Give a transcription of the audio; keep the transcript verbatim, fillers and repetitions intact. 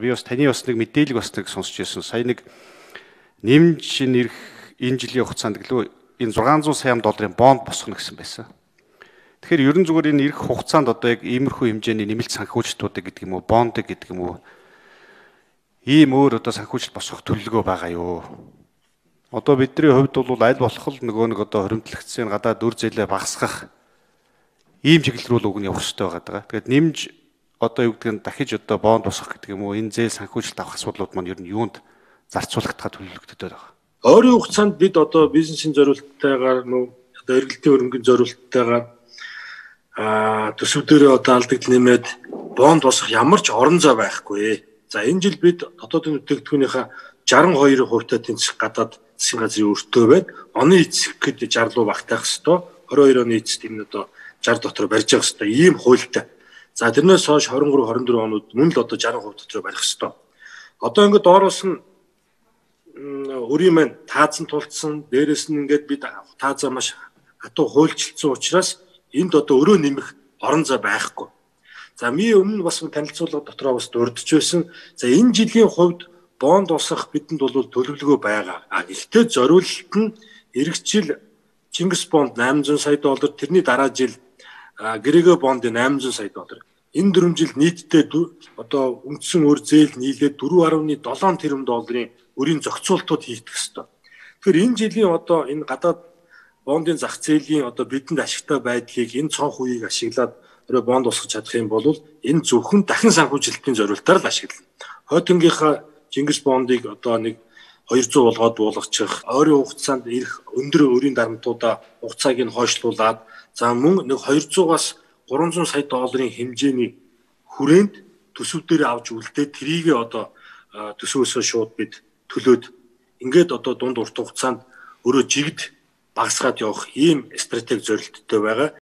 Би бас таны бас нэг мэдээлэл бас нэг сонсч байсан. Сая нэг нэмж нэрх энэ жилийн хугацаанд гэлөө энэ зургаан зуун сая долларын бонд босгоно гэсэн байсан. Тэгэхээр ерөн зүгээр энэ ирэх хугацаанд одоо яг иймэрхүү хэмжээний нэмэлт санхүүжилтуудыг гэдэг юм уу, бондыг гэдэг юм уу, ийм өөр одоо санхүүжилт босгох төлөвлөгөө байгаа юу? Одоо бидний хувьд бол аль болох л нөгөө нэг одоо хоримтлагдсан гадаад үр зээлээ багасгах ийм чиглэл рүү уг нь явах хэрэгтэй байгаа. Тэгээд нэмж одоо юу гэдэг нь дахиж одоо бонд босгох гэдэг юм уу, энэ зээл санхүүжилт авах асуудлууд маань ер нь юунд зарцуулагдахад төлөвлөгддөг байгаа. Ойрын хугацаанд бид одоо бизнесийн зорилттойгоор нөө одоо эргэлтийн хөрөнгөний зорилттойгоор аа төсвүүдэрээ одоо алдагдал нэмээд бонд босгох ямар ч орон зай байхгүй. За энэ жил бид дотоодын бүтээгдэхүүнийхээ шестьдесят two хувьтай тэнцэх гадаад засгийн газрын өртөө байд. Оны эцэг гэхэд sixty руу багтаах хэвээр, twenty-two оны эцэст энэ одоо sixty дотор барьж явах хэвээр ийм хуультай. За тэрнээс хойш twenty-three twenty-four онууд мөн л одоо sixty percent дотор барих хэвээр. Одоо ингээд доороос нь өрийн маань таазан тулцсан, дээрэс нь ингээд бид таазаа маш хатуу хуульчилсан учраас энд одоо өрөө нэмэх орон зай байхгүй. За ми өмнө бас танилцуулга дотроо бас дурдж байсан. За энэ жилийн хувьд бонд босгох бидэнд бол төлөвлөгөө байгаа. А гэхдээ зориулалт нь эх жил Чингис бонд eight hundred сая доллар, тэрний дараа жил Грего бонд eight hundred сая доллар. Энэ дөрвөн жил нийтдээ одоо үндсэн өр зээл нийлээд four point seven тэрбум долларын өрийн зохицуултууд хийгдэх ёстой. Тэгэхээр энэ жилийн одоо энэ гадаад бондын зах зээлийн одоо бидэнд ашигтай байдлыг энэ цонх үеийг ашиглаад өөрөө бонд босгож чадах юм бол энэ зөвхөн дахин санхүүжилтийн зорилтоор л ашиглана. Хойтонгийнхаа Чингис бондыг одоо нэг two hundred болгоод буулгачих, ойрын хугацаанд ирэх өндөр өрийн дарамтуудаа хугацааг нь хойшлуулад за мөн нэг two hundred-аас three hundred сая долларын хэмжээний хүрээнд төсөв дээр авч үлдээд трийгээ одоо төсвөөсөө шууд бид төлөөд ингээд одоо дунд урт хугацаанд өөрөө жигд багасгаад явах ийм стратеги зорилттой байгаа.